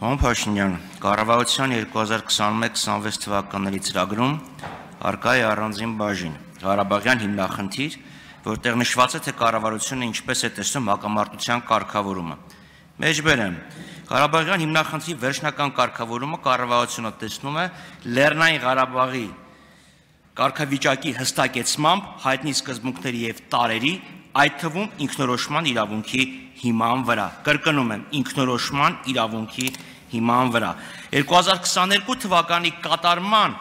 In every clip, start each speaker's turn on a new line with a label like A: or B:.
A: Պարոն Փաշինյան, կառավարության 2021-26 թվականների ծրագրում առկա է առանձին բաժին, Ղարաբաղյան հիմնախնդիր, որտեղ նշված է, թե կառավարությունը ինչպես է տեսնում հակամարտության կարգավորումը։ Մեջբերեմ, Ղարաբաղյան հիմնախնդրի վերջնական կարգավորումը կառավարությունը տեսնում է Լեռնային Ղարաբաղի կարգավիճակի հստակեցմամբ հայտնի սկզբունքների եւ տարերի, այդ թվում ինքնորոշման իրավունքի հիման վրա։ Կրկնում եմ, ինքնորոշման իրավունքի հիման վրա։ 2022 թվականի կատարման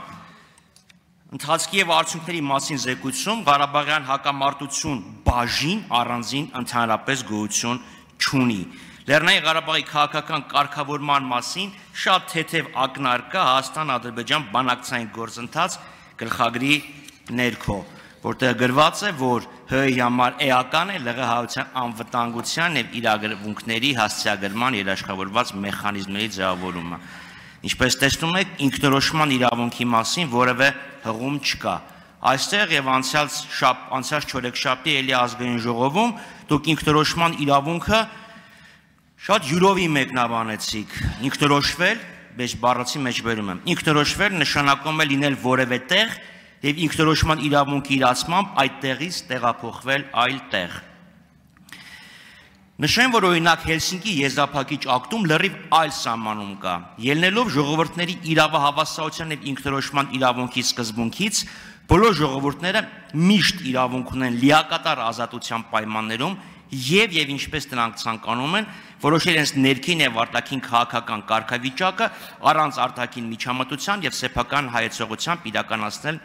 A: ընթացքի եւ արդյունքների մասին զեկույցում Ղարաբաղյան հակամարտություն բաժին առանձին ընդհանրապես գոյություն չունի։ Լեռնային Ղարաբաղի քաղաքական կարգավորման մասին շատ թեթև ակնարկա Հայաստան-Ադրբեջան բանակցային գործընթաց գլխագրի ներքո, որտեղ գրված է, որ ՀՀ-ի համար էական է ԼՂՀ-ության անվտանգության եւ իրավունքների հասցեագրման երաշխավորված մեխանիզմների ձևավորումը։ Ինչպես տեսնում եք, ինքնորոշման իրավունքի մասին որևէ հղում չկա։ Այստեղ եւ անցյալ չորեքշաբթի էլի ազգային ժողովում դուք ինքնորոշման իրավունքը շատ յուրովի մեկնաբանեցիք։ Ինքնորոշվել, բայց բառացի մեջ բերում եմ, ինքնորոշվել նշանակում է լինել որևէ տեղ եւ ինքնորոշման իրավունքի իրացմամբ այդ տեղից տեղափոխվել այլ տեղ։ Նշեմ, որ օրինակ Հելսինկի եզրափակիչ ակտում լրիվ այլ սահմանում կա, ելնելով ժողովուրդների իրավահավասարության եւ ինքնորոշման իրավունքի սկզբունքից, բոլոր ժողովուրդները միշտ իրավունք ունեն լիակատար ազատության պայմաններում եւ ինչպես նրանք ցանկանում են, որոշել իրենց ներքին եւ արտաքին քաղաքական կարգավիճակը առանց արտաքին միջամտության եւ սեփական հայեցողությամբ իրականացնել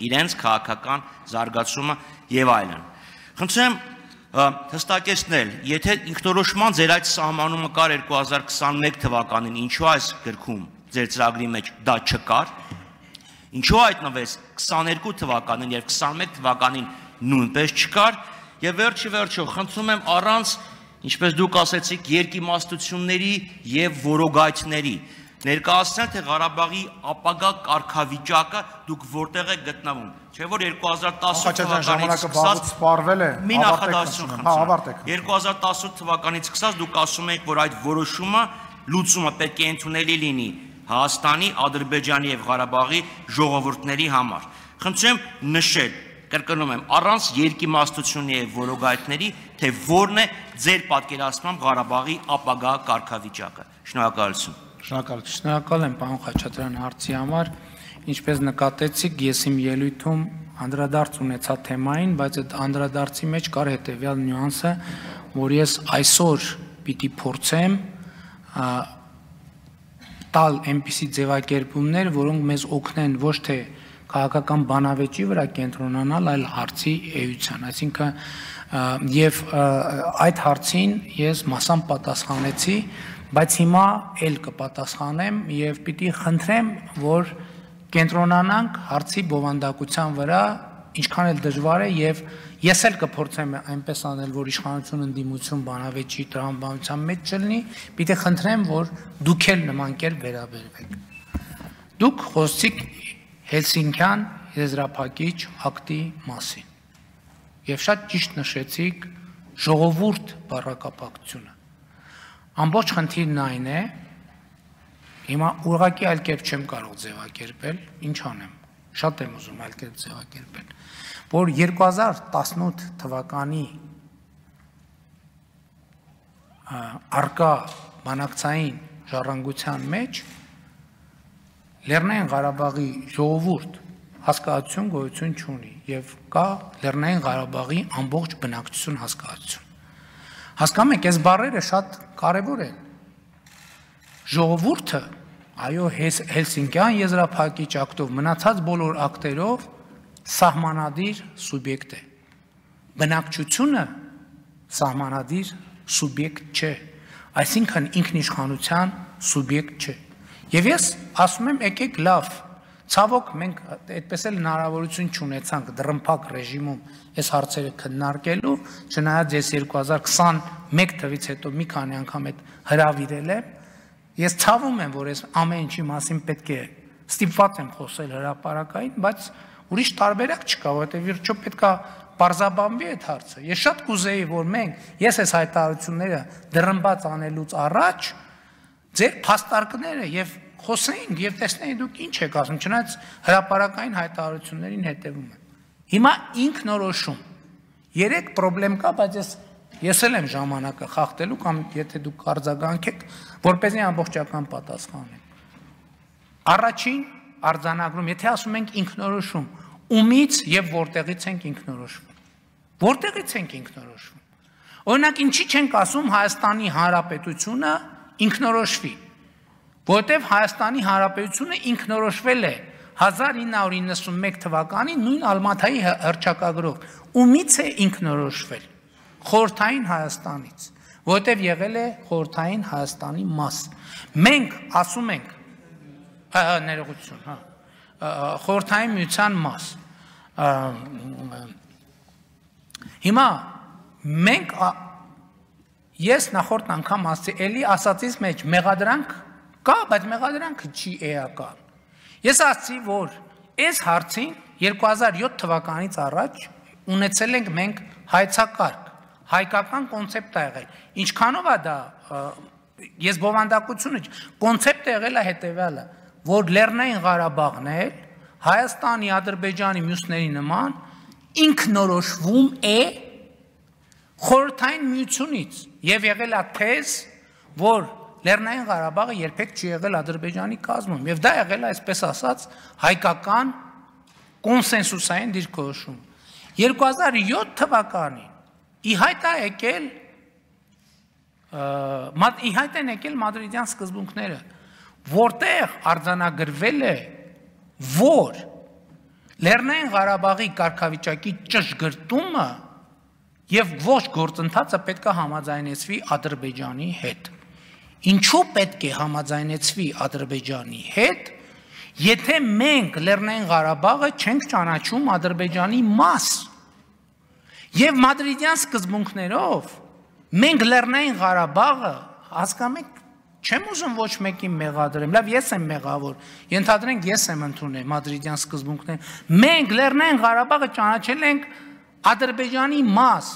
A: իրենց քաղաքական զարգացումը եւ այլն։ Խնդրեմ հստակեցնել, եթե ինքնորոշման ձեր այդ սահմանումը կար 2021 թվականին, ինչու այս գրքում ձեր ծրագրի մեջ դա չկար, ինչու հայտնվեց 22 թվականին եւ 21 թվականին նույնպես չկար, եւ վերջը խնդրում եմ առանց, ինչպես դուք ասեցիք, երկիմաստությունների եւ որոգայթների ներկայացնել, թե Ղարաբաղի ապագա կարգավիճակը դուք որտեղ եք գտնվում, չէ՞ որ 2018 թվականից սկսած սպառվել է, մի նախադասություն խնդրում, 2018 թվականից սկսած դուք ասում եք, որ այդ որոշումը լուծումը պետք է ընդունելի լինի Հայաստանի, Ադրբեջանի եւ Ղարաբաղի ժողովուրդների համար։ Խնդրեմ նշել, կրկնում եմ, առանց երկիմաստությունների եւ որոգայթների, թե որն է ձեր պատկերացմամբ Ղարաբաղի ապագա կարգավիճակը։ Շնորհակալություն։
B: Շնորհակալ եմ, պարոն Խաչատրյան, հարցի համար։ Ինչպես նկատեցիք, ես իմ ելույթում անդրադարձ ունեցա թեմային, բայց այդ անդրադարձի մեջ կար հետեւյալ նյուանսը, որ ես այսօր պիտի փորձեմ տալ այնպիսի ձևակերպումներ, որոնք մեզ օգնեն ոչ թե քաղաքական բանավեճի վրա կենտրոնանալ, այլ հարցի էության, այսինքն եւ այդ հարցին ես մասամբ պատասխանեցի, բայց հիմա էլ կպատասխանեմ եւ պիտի խնդրեմ, որ կենտրոնանանք հարցի բովանդակության վրա, ինչքան էլ դժվար է եւ ես էլ կփորձեմ այնպես անել, որ իշխանությունը ընդդիմություն բանավեճի տրամաբանության մեջ չլինի, պիտի խնդրեմ, որ դուք էլ նման կերպ վերաբերվեք։ Դուք խոսեցիք Հելսինկյան եզրափակիչ ակտի մասին եւ շատ ճիշտ նշեցիք ժողովուրդ բառակապակցությունը։ Ամբողջ խնդիրն այն է, հիմա ուղղակի այլ կերպ չեմ կարող ձևակերպել, ինչ անեմ, շատ եմ ուզում այլ կերպ ձևակերպել, որ 2018 թվականի արկա բանակցային ժառանգության մեջ Լեռնային Ղարաբաղի ժողովուրդ հասկացություն գոյություն չունի եւ կա Լեռնային Ղարաբաղի ամբողջ բնակչություն հասկացություն։ Հասկանում եք, այս բառերը շատ կարեւոր են։ Ժողովուրդը, այո, Հելսինկյան եզրափակիչ ակտով մնացած բոլոր ակտերով սահմանադիր սուբյեկտ է։ Բնակչությունը սահմանադիր սուբյեկտ չէ, այսինքն ինքնիշխանության սուբյեկտ չէ։ Եվ ես ասում եմ, եկեք լավ, ցավոք մենք այդպես էլ հնարավորություն չունեցանք դռնփակ ռեժիմում այս հարցերը քննարկելու, չնայած ես 2021 թվից հետո մի քանի անգամ այդ հրավիրել եմ, ես ցավում եմ, որ այս ամեն ինչի մասին պետք է ստիպված եմ խոսել հրապարակային, բայց ուրիշ տարբերակ չկա, որովհետև վերջո պետք է պարզաբանվի այդ հարցը։ Ես շատ կուզեի, որ մենք, ես այս հայտարարությունները դռնբաց անելուց առաջ ձեր փաստարկները եւ խոսեինք եւ տեսնեինք դուք ինչ եք ասում, չնայած հրապարակային հայտարարություններին հետեւում եմ։ Հիմա ինքնորոշում։ 3 խնդրեմ կա, բայց ես էլ եմ ժամանակը խախտելու կամ եթե դուք արձագանքեք, որպեսզի ամբողջական պատասխան եմ։ Առաջին արձանագրում, եթե ասում ենք ինքնորոշում, ումից եւ որտեղից ենք ինքնորոշվում։ Որտեղից ենք ինքնորոշվում։ Օրինակ, ինչի չենք ասում Հայաստանի Հանրապետությունը ինքնորոշվի, որտեղ Հայաստանի Հանրապետությունը ինքնորոշվել է 1991 թվականին նույն Ալմաթայի հռչակագրով։ Ումից է ինքնորոշվել։ Խորհրդային Հայաստանից, որտեղ եղել է Խորհրդային Հայաստանի մաս։ Մենք ասում ենք ներողություն, Խորհրդային Միության մաս։ Հիմա մենք ես նախորդ անգամ ասացի, էլի ասածից մեջ մեղադրանք կա, բայց մեղադրանքը չի էական։ Ես ասացի, որ այս հարցին 2007 թվականից առաջ ունեցել ենք մենք հայցակարգ, հայկական կոնցեպտ է եղել։ Ինչքանով է դա, ես բովանդակությունը, կոնցեպտը եղել է հետևյալը, որ Լեռնային Ղարաբաղն էլ Հայաստանի, Ադրբեջանի, մյուսների նման ինքնորոշվում է Խորհրդային Միությունից եւ եղել է թեզ, որ Լեռնային Ղարաբաղը երբեք չի եղել Ադրբեջանի կազմում եւ դա եղել է, այսպես ասած, հայկական կոնսենսուսային դիրքորոշում։ 2007 թվականին ի հայտ են եկել մադրիդյան սկզբունքները, որտեղ արձանագրվել է, որ Լեռնային Ղարաբաղի կարգավիճակի ճշգրտումը եւ ոչ գործընթացը պետք է համաձայնեցվի Ադրբեջանի հետ։ Ինչու պետք է համաձայնեցվի Ադրբեջանի հետ, եթե մենք Լեռնային Ղարաբաղը չենք ճանաչում Ադրբեջանի մաս։ Եվ մադրիդյան սկզբունքներով մենք Լեռնային Ղարաբաղը հասկանում եք, չեմ ուզում ոչ մեկին մեղադրեմ, լավ ես եմ մեղավոր, ենթադրենք ես եմ ընդունել մադրիդյան սկզբունքները, մենք Լեռնային Ղարաբաղը ճանաչել ենք Ադրբեջանի մաս,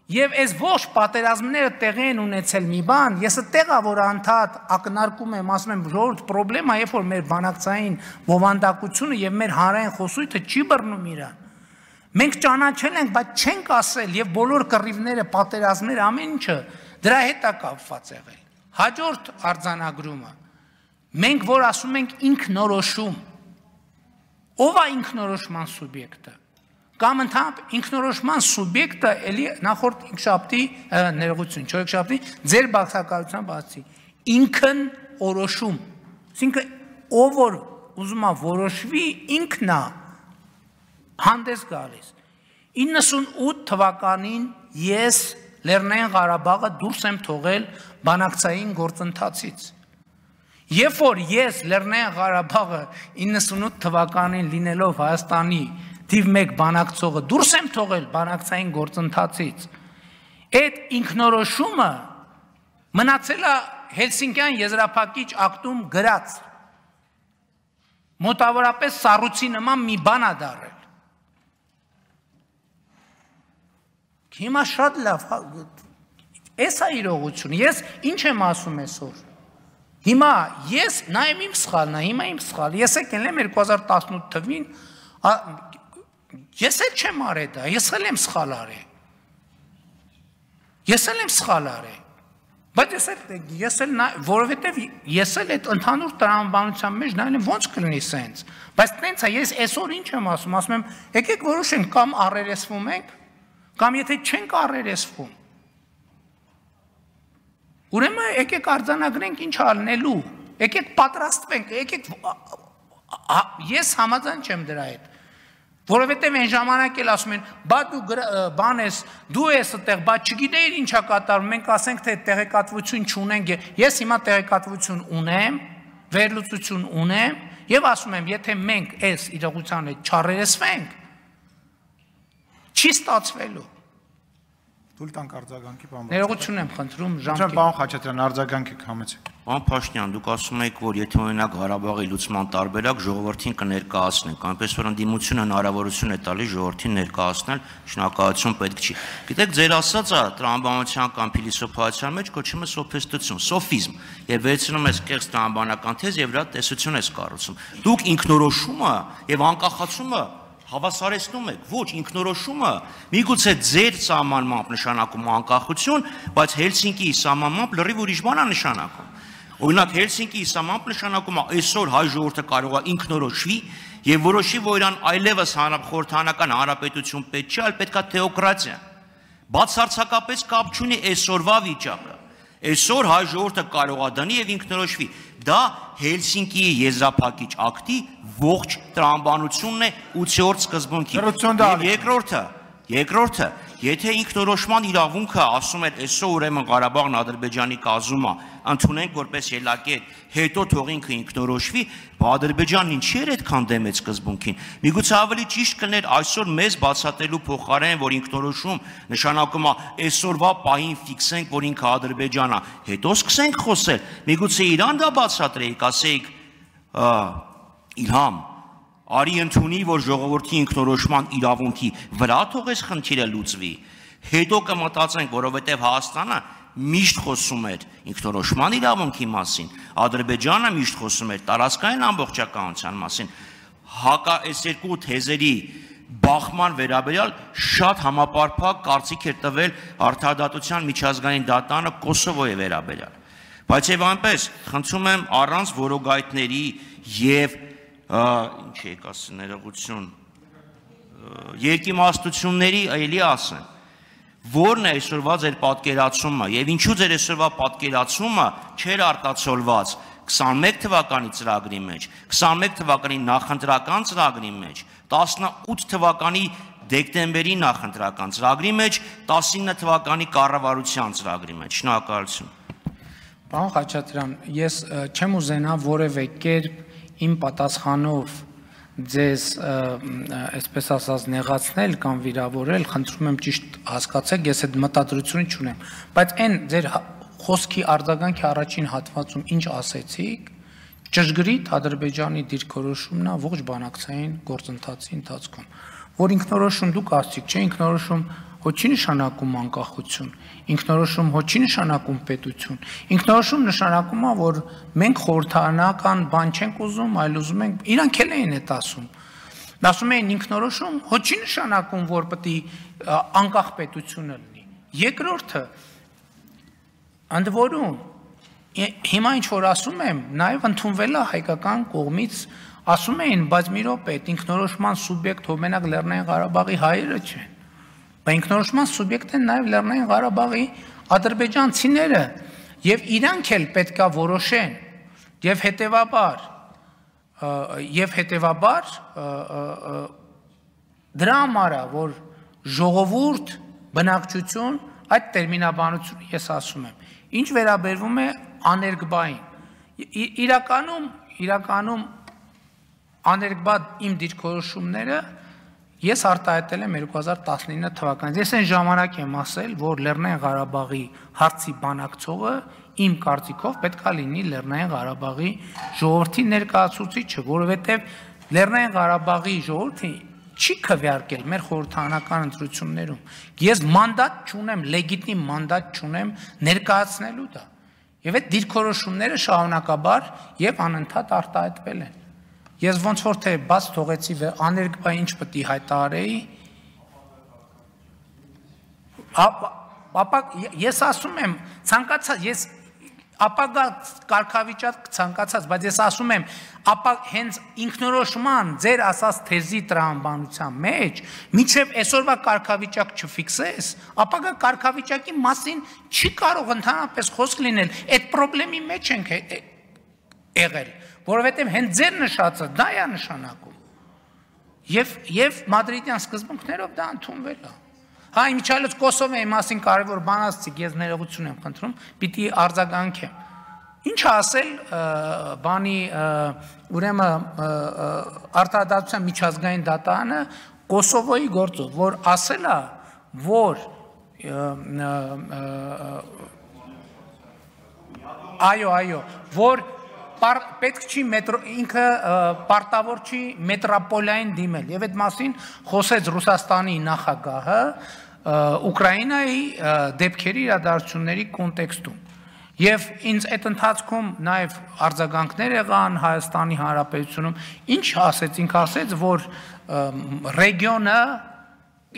B: եւ այս ոչ պատերազմները տեղի են ունեցել մի բան, ես այդտեղա որ անդադ ակնարկում եմ, ասում եմ, ժողովուրդ պրոբլեմա, երբ որ մեր բանակցային բովանդակությունը եւ մեր հանրային խոսույթը չի բռնում իրան։ Մենք ճանաչել ենք, բայց չենք ասել եւ բոլոր կռիվները, պատերազմները, ամեն ինչը դրա հետ է կապված եղել։ Հաջորդ արձանագրումը, մենք որ ասում ենք ինքնորոշում, ով է ինքնորոշման սուբյեկտը։ Կամ ընդհանրապես ինքնորոշման սուբյեկտը էլի նախորդ ինքշաբթի ներողություն, չորեքշաբթի ձեր բացակայության բացի ինքն օրոշում, այսինքն ով որ ուզում է որոշվի ինքն է հանդես գալիս։ 98 թվականին ես Լեռնային Ղարաբաղը դուրս եմ թողել բանակցային գործընթացից։ Երբ որ ես Լեռնային Ղարաբաղը 98 թվականին լինելով Հայաստանի թիվ 1 բանակցողը դուրս եմ թողել բանակցային գործընթացից, այդ ինքնորոշումը մնացել է Հելսինկյան եզրափակիչ ակտում գրած, մոտավորապես սառույցի նման մի բան է դառել։ Հիմա շատ լավ, էս է իրողությունը, ես ինչ եմ ասում այսօր։ Հիմա ես նայեմ իմ սխալն է, հիմա իմ սխալ, ես եկել եմ 2018 թվին, ես էլ չեմ արել դա, ես էլ եմ սխալ արել։ Ես էլ եմ սխալ արել։ Բայց ես էլ որովհետև ես էլ այդ ընդհանուր տրամաբանության մեջ նայել եմ ոնց կլինի սենց։ Բայց տենց է, ես այսօր ինչ եմ ասում եմ, եկեք որոշենք կամ առերեսվում ենք, կամ եթե չենք առերեսվում։ Ուրեմն եկեք արձանագրենք ինչ անելու, եկեք պատրաստվենք, եկեք ես համաձայն չեմ դրա հետ։ Որովհետև այն ժամանակ էլ ասում են, բա դու բան ես, դու ես այդտեղ, բա չգիտեիր ինչա կատարվում, մենք ասենք թե տեղեկատվություն չունենք, ես հիմա տեղեկատվություն ունեմ, վերլուծություն ունեմ եւ ասում եմ, եթե մենք այս իրողության հետ չառերեսվենք, չի ստացվելու։
C: Թույլ տանք արձագանքի բան։
B: Ներողություն եմ խնդրում,
C: ժամկետը։ Պարոն Խաչատրյան, արձագանքեք համեցեք։
A: Պարոն Փաշինյան, դուք ասում եք, որ եթե օրինակ Ղարաբաղի լուծման տարբերակ ժողովրդին կներկայացնենք, այնպես որ ընդդիմությունը հնարավորություն է տալիս ժողովրդին ներկայացնել, շնորհակալություն պետք չի։ Գիտեք, ձեր ասածը տրամաբանության կամ փիլիսոփայության մեջ կոչվում է սոֆիստություն, սոֆիզմ, եւ վերցնում ես կեղծ տրամաբանական թեզ եւ դրա տեսություն ես կառուցում։ Դուք ինքնորոշումը եւ անկախացումը հավասարեցնում եք, ոչ ինքնորոշումը միգուցե ձեր սահմանմամբ նշանակում անկախություն, բայց Հելսինկիի սահմանմամբ լրիվ ուրիշ բան է նշանակում։ Օրինակ Հելսինկիի սահմանմամբ նշանակում է այսօր հայ ժողովուրդը կարող է ինքնորոշվի եւ որոշի, որ իրան այլևս խորհրդանական հանրապետություն պետք չէ, այլ պետքա թեոկրատիա։ Բացարձակապես կապ չունի այսօրվա վիճակը։ Այսօր հայ ժողովուրդը կարող է դանի եւ ինքնորոշվի։ Դա Հելսինկիի եզրափակիչ ակտի ողջ տրամաբանությունն է 8-րդ սկզբունքի։ Երկրորդը, եթե ինքնորոշման իրավունքը ասում էր այսօր ուրեմն Ղարաբաղն Ադրբեջանի կազմում է, ընդունենք որպես ելակետ, հետո թող ինքը ինքնորոշվի, Ադրբեջանն ինչի էր այդքան դեմ այդ սկզբունքին։ Միգուցե ավելի ճիշտ կներ այսօր մեզ բացատրելու փոխարեն, որ ինքնորոշում նշանակում է այսօրվա պահին ֆիքսենք, որ ինքը Ադրբեջանն է, հետո սկսենք խոսել։ Միգուցե իրան դա բացատրեիք, ասեիք Իլհամ, արի ընդունի, որ ժողովրդի ինքնորոշման իրավունքի վրա թողես խնդիրը լուծվի, հետո կմտածենք, որովհետև Հայաստանը միշտ խոսում էր ինքնորոշման իրավունքի մասին, Ադրբեջանը միշտ խոսում էր տարածքային ամբողջականության մասին, այս երկու թեզերի բախման վերաբերյալ շատ համապարփակ կարծիք էր տվել Արդարադատության միջազգային դատարանը Կոսովոյի վերաբերյալ, բայց եւ այնպես խնդրում եմ առանց որոգայթների եւ ինչ եք ասել ներողություն երկիմաստությունների էլի ասեն որն է այսօրվա ձեր պատկերացումը եւ ինչու ձեր այսօրվա պատկերացումը չէր արտացոլված 21 թվականի ծրագրի մեջ 21 թվականի նախընտրական ծրագրի մեջ 18 թվականի դեկտեմբերի նախընտրական ծրագրի մեջ 19 թվականի կառավարության ծրագրի մեջ շնորհակալություն
B: Պարոն Խաչատրյան ես չեմ ուզենա որևէ կերպ իմ պատասխանով ձեզ այսպես ասած նեղացնել կամ վիրավորել, խնդրում եմ ճիշտ հասկացեք, ես այդ մտադրությունը չունեմ, բայց այն ձեր խոսքի արձագանքի առաջին հատվածում ինչ ասեցիք, ճշգրիտ Ադրբեջանի դիրքորոշումն է ողջ բանակցային գործընթացի ընթացքում, որ ինքնորոշում դուք ասացիք, չէ, ինքնորոշում հո չի նշանակում անկախություն, ինքնորոշում հո չի նշանակում պետություն, ինքնորոշում նշանակում է, որ մենք խորհրդանական բան չենք ուզում, այլ ուզում ենք, իրանք էլ էին այդ ասում, ասում էին ինքնորոշում հո չի նշանակում, որ պետք է անկախ պետությունը լինի, երկրորդը, ընդ որում, հիմա ինչ որ ասում եմ, նաև ընդունվել է հայկական կողմից, ասում էին, բայց մի րոպե, ինքնորոշման սուբյեկտ հո մենակ Լեռնային Ղարաբաղի հայերը չեն Ինքնորոշման սուբյեկտ են նաև Լեռնային Ղարաբաղի ադրբեջանցիները եւ իրանք էլ պետքա որոշեն եւ հետեւաբար դրա համար է որ ժողովուրդ բնակչություն այդ տերմինաբանությունը ես ասում եմ ինչ վերաբերվում է աներկբային իրականում աներկբա իմ դիրքորոշումները Ես արտահայտել եմ 2019 թվականից։ Ես այն ժամանակ եմ ասել, որ Լեռնային Ղարաբաղի հարցի բանակցողը իմ կարծիքով պետք է լինի Լեռնային Ղարաբաղի ժողովրդի ներկայացուցիչը, որովհետև Լեռնային Ղարաբաղի ժողովուրդը չի քվեարկել մեր խորհրդանական ընտրություններում։ Ես մանդատ չունեմ, լեգիտիմ մանդատ չունեմ ներկայացնելու դա։ Եվ այդ դիրքորոշումները շարունակաբար եւ անընդհատ արտահայտվել են։ Ես ոնց որ թե բաց թողեցի աներկբա ինչ պետք է հայտարարեի ապա ես ասում եմ ցանկացած ես ապագա կարգավիճակ ցանկացած բայց ես ասում եմ ապա հենց ինքնորոշման ձեր ասած թեզի տրամաբանության մեջ միջև այսօրվա կարգավիճակ չֆիքսես ապագա կարգավիճակի մասին չի կարող ընդհանրապես խոսք լինել այդ խնդրի մեջ ենք եղել Որովհետև հենց ձեր նշածը դա է նշանակում։ Եվ մադրիդյան սկզբունքներով դա ընդունվել է։ Հա իմիջիայլոց Կոսովոյի մասին կարևոր բան ասացիք, ես ներողություն եմ խնդրում, պիտի արձագանքեմ։ Ինչ ասել բանի ուրեմն Արդարադատության միջազգային դատարանը Կոսովոյի գործով, որ ասել է, որ այո, որ պետք չի ինքը պարտավոր չի մետրոպոլիային դիմել եւ այդ մասին խոսեց Ռուսաստանի նախագահը Ուկրաինայի դեպքերի իրադարձությունների կոնտեքստում եւ ինձ այդ ընթացքում նաեւ արձագանքներ եղան Հայաստանի Հանրապետությունում ինչ ասեց ինքը ասեց որ ռեգիոնը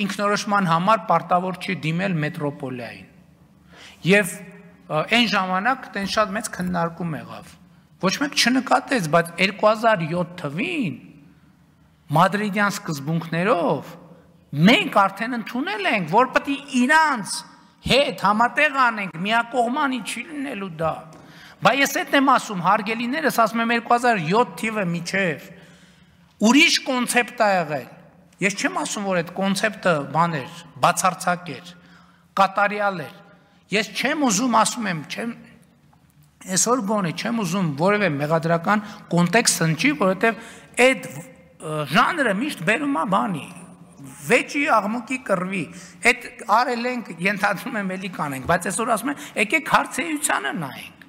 B: ինքնորոշման համար պարտավոր չի դիմել մետրոպոլիային եւ այն ժամանակ տեն շատ մեծ քննարկում եղավ ոչ մեկ չնկատեց, բայց 2007 թվին մադրիդյան սկզբունքներով մենք արդեն ընդունել ենք, որ պետք է իրանց հետ համատեղ անենք, միակողմանի չի լինելու դա։ Բայց ես այդ եմ ասում, հարգելիներս, ասում եմ 2007 թիվը միջև ուրիշ կոնցեպտ է եղել։ Ես չեմ ասում, որ այդ կոնցեպտը բան էր, բացարձակ էր, կատարյալ էր։ Ես չեմ ուզում, ասում եմ, այսօր գոնե չեմ ուզում որևէ մեղադրական կոնտեքստ հնչի, որովհետև այդ ժանրը միշտ բերում է բանի, վեճի աղմուկի կռվի, այդ արել ենք, ենթադրում եմ էլի կանենք, բայց այսօր ասում եմ, եկեք հարցեությանը նայենք։